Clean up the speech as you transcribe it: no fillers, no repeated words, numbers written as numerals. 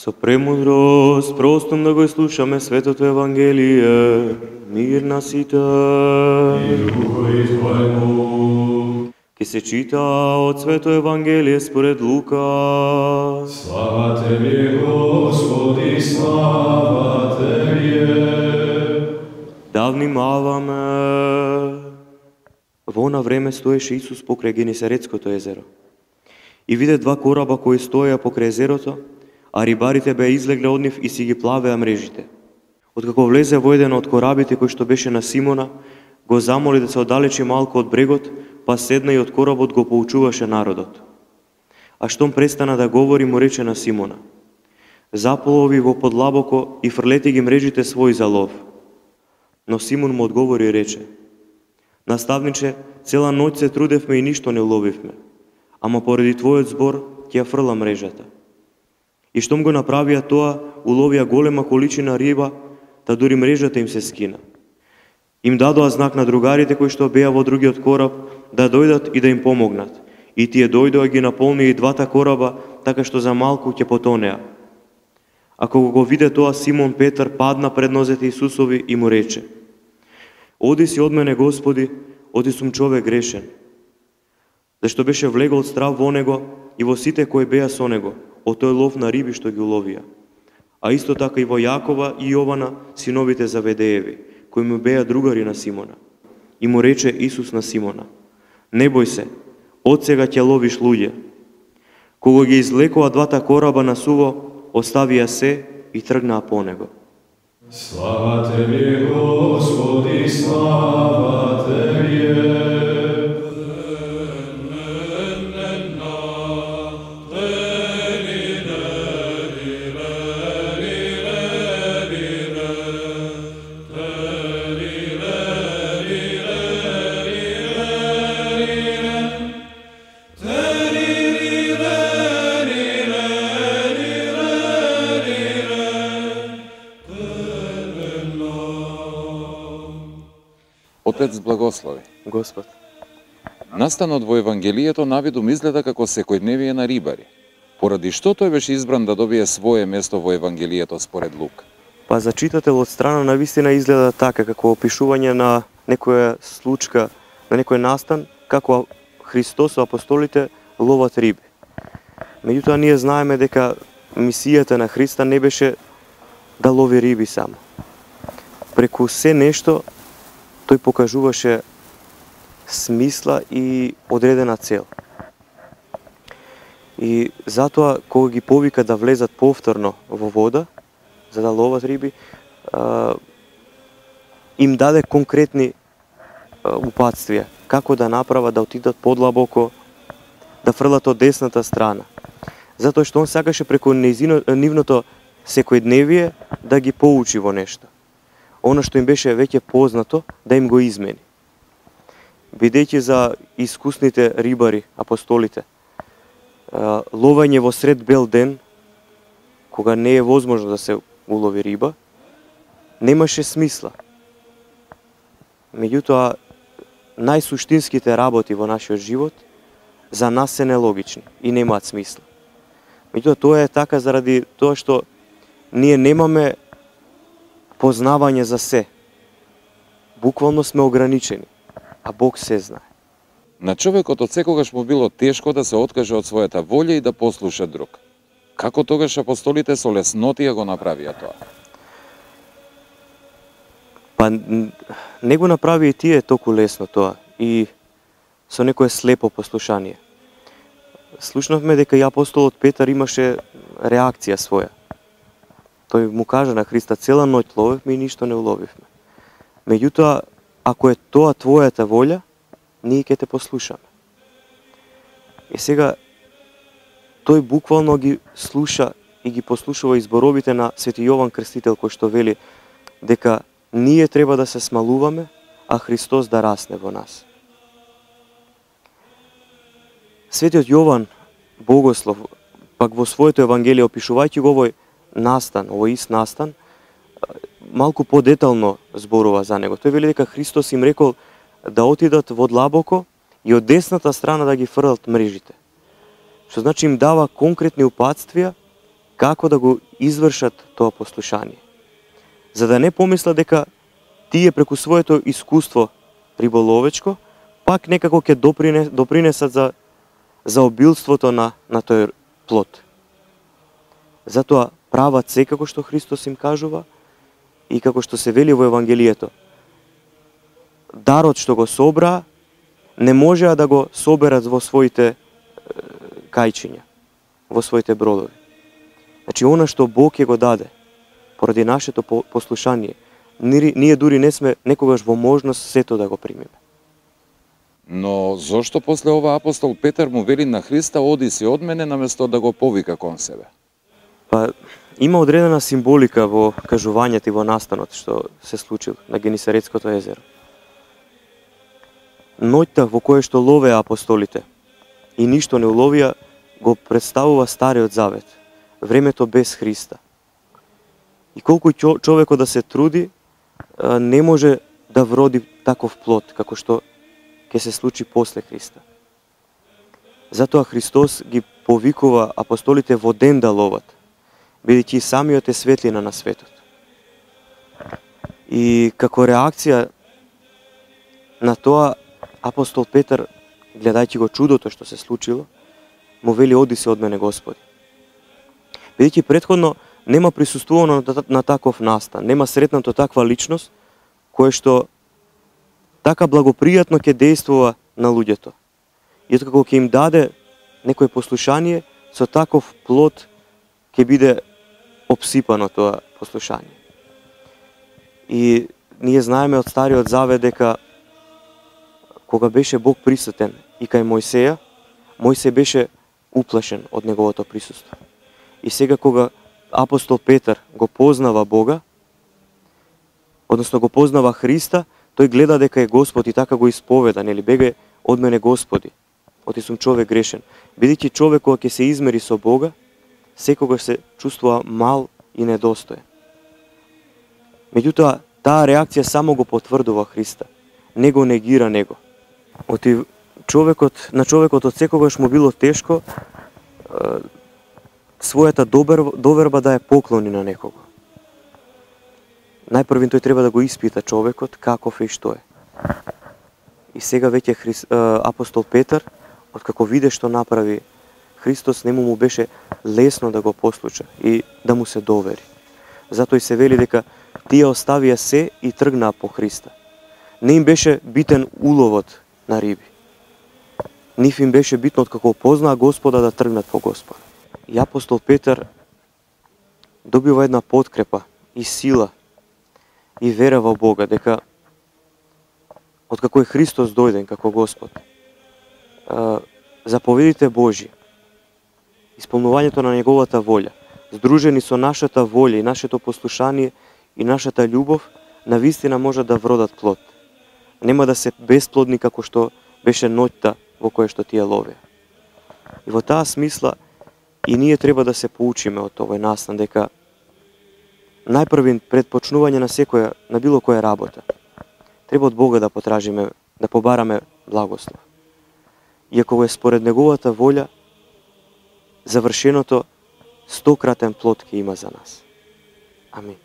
Со премудрост, простом да го слушаме Светото Евангелие, мир на сите. Ке се чита од Свето Евангелие според Лука. Слава Тебе, Господи, слава Тебе. Да внимаваме. Во она време стоеше Исус покрај Генесаретското езеро. И виде два кораба кои стоеа покрај езерото, а рибарите беа излегле од нив и си ги плавеа мрежите. Откако влезе во еден од корабите кој што беше на Симона, го замоли да се оддалечи малку од брегот, па седна и од коработ го поучуваше народот. А штом престана да говори, му рече на Симона: заплови во подлабоко и фрлети ги мрежите своји за лов. Но Симон му одговори и рече: наставниче, цела ноќ се трудевме и ништо не уловивме, ама поради твојот збор ќе ја фрла мрежата. И штом го направија тоа, уловија голема количина риба, та дури мрежата им се скина. Им дадоа знак на другарите кои што беа во другиот кораб да дојдат и да им помогнат. И тие дојдоа ги наполнија и двата кораба, така што за малку ќе потонеа. А кога го виде тоа, Симон Петар падна пред нозете Исусови и му рече: оди си од мене, Господи, оди сум човек грешен. Зашто беше влегол страв во него и во сите кои беа со него, од тој лов на риби што ги уловија. А исто така и во Јакова и Јована, синовите Заведееви, кои му беа другари на Симона. И му рече Исус на Симона: не бој се, од сега ќе ловиш луѓе. Кога ги излекоа двата кораба на суво, оставија се и тргнаа по него. Слава Тебе, Господи, слава Тебе. Отец благослови. Господ. Настанот во Евангелието навидум изгледа како секојдневие на рибари. Поради што тој беше избран да добие свое место во Евангелието според Лук? Па за читател од страна на вистина изгледа така, како опишување на некоја случка, на некој настан, како Христос со апостолите ловат риби. Меѓутоа ние знаеме дека мисијата на Христа не беше да лови риби само. Преку се нешто тој покажуваше смисла и одредена цел. И затоа, кога ги повика да влезат повторно во вода, за да ловат риби, им даде конкретни упатствија, како да направат, да отидат подлабоко, да фрлат од десната страна. Затоа што он сакаше преку нивното секојдневие да ги поучи во нешто. Оно што им беше веќе познато, да им го измени. Бидејќи за искусните рибари, апостолите, ловење во сред бел ден, кога не е возможно да се улови риба, немаше смисла. Меѓутоа, најсуштинските работи во нашиот живот за нас се нелогични и немаат смисла. Меѓутоа, тоа е така заради тоа што ние немаме познавање за се. Буквално сме ограничени, а Бог се знае. На човекот од секогаш му било тешко да се откаже од својата волја и да послуша друг. Како тогаш апостолите со леснотија го направија тоа? Па не го направи и тие толку лесно тоа и со некое слепо послушание. Слушнавме дека и апостолот Петар имаше реакција своја. Тој му кажа на Христа: цела ноќ ловевме и ништо не уловивме. Меѓутоа, ако е тоа твојата волја, ние ќе те послушаме. И сега, тој буквално ги слуша и ги послушува изборовите на Свети Јован Крстител, кој што вели дека ние треба да се смалуваме, а Христос да расне во нас. Светиот Јован Богослов, пак во своето Евангелие, опишувајќи го овој настан, овој ист настан, малку подетално зборува за него. Тој вели дека Христос им рекол да отидат во длабоко и од десната страна да ги фрлат мрежите. Што значи им дава конкретни упатствија како да го извршат тоа послушание. За да не помислат дека тие преку своето искуство риболовечко, пак некако ќе допринесат за обилството на тој плод. Затоа прават се како што Христос им кажува и како што се вели во Евангелието. Дарот што го собраа, не можеа да го соберат во своите кајчиња, во своите бродови. Значи, она што Бог ќе го даде, поради нашето послушание, ние дури не сме некогаш во можност сето да го примиме. Но зошто после ова апостол Петар му вели на Христа, оди си од мене, наместо да го повика кон себе? Па, има одредена символика во кажувањето и во настанот што се случил на Генисаретското езеро. Ноќта во која што ловеа апостолите и ништо не уловија, го представува Стариот Завет, времето без Христа. И колку човекот да се труди, не може да вроди таков плод, како што ќе се случи после Христа. Затоа Христос ги повикува апостолите во ден да ловат, бидејќи самиот е светлина на светот. И како реакција на тоа, апостол Петар, гледајќи го чудото што се случило, му вели, оди се од мене, Господи. Бидејќи претходно нема присуствувано на таков настан, нема сретнато таква личност, која што така благопријатно ќе действува на луѓето. И откако ќе им даде некој послушание, со таков плод ќе биде обсипано тоа послушание. И ние знаеме од Стариот Завет дека кога беше Бог присутен и кај Мојсеја, Мојсеј беше уплашен од неговото присуство. И сега кога апостол Петар го познава Бога, односно го познава Христа, тој гледа дека е Господ и така го исповеда, нели, беге од мене Господи, оти сум човек грешен. Бидејќи човек кога ќе се измери со Бога, секогаш се чувствува мал и недостоен. Меѓутоа, таа реакција само го потврдува Христа, не го негира него. Оти на човекот од секогаш му било тешко својата доверба да ја поклони на некого. Најпрвин тој треба да го испита човекот каков е и што е. И сега веќе апостол Петар, откако виде што направи Христос, нему му беше лесно да го послуша и да му се довери. Затоа и се вели дека тие оставија се и тргнаа по Христа. Не им беше битен уловот на риби. Нив им беше битно откако познаа Господа да тргнат по Господа. И апостол Петар добива една подкрепа и сила и вера во Бога, дека откако е Христос дојден како Господ, заповедите Божи, исполнувањето на неговата волја, здружени со нашата волја и нашето послушание и нашата љубов, навистина може да вродат плод. Нема да се бесплодни како што беше ноќта во која што тие ловеа. И во таа смисла и ние треба да се поучиме од овој настан, дека најпрвин пред почнување на било која работа, треба од Бога да потражиме, да побараме благослов. И ако е според неговата волја, завршеното 100-кратен плод ќе има за нас. Амин.